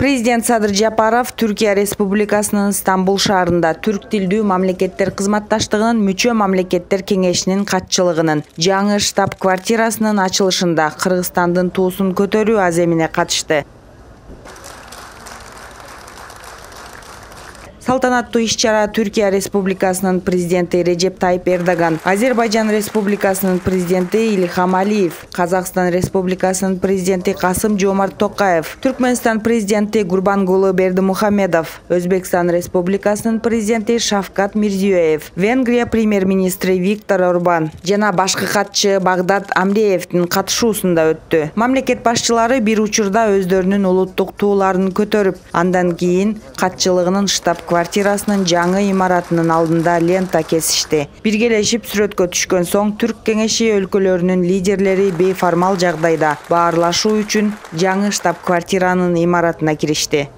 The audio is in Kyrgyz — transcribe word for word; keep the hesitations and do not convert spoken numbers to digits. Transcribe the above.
Президент Садыр Жапаров Түркия Республикасынын Стамбул шаарында түрк тилдүү мамлекеттер кызматташтыгынын мүчө мамлекеттер кеңешинин катчылыгынын жаңы штаб-квартирасынын ачылышында Кыргызстандын туусун көтөрүү аземине катышты. Салтанаттуу иш-чара Түркия Республикасынын президенти Режеп Тайип Эрдоган, Азербайжан Республикасынын президенти Ильхам Алиев, Казакстан Республикасынын президенти Касым-Жомарт Токаев, Түркмөнстан президенти Гурбангулы Бердимухамедов, Өзбекстан Республикасынын президенти Шавкат Мирзиёев, Венгрия премьер-министри Виктор Орбан жана башкы катчы Багдат Амреевдин катышуусунда өттү. Мамлекет башчылары бир учурда өздөрүнүн улуттук тууларын көтөрүп, андан кийин катчылыгынын штаб квартирасынын жаңы имаратынын алдында лента кесишти. Биргелешип сүрөткө түшкөн соң Түрк кеңеши өлкөлөрүнүн лидерлери бейформал жагдайда баарлашуу үчүн жаңы штаб-квартиранын имаратына киришти.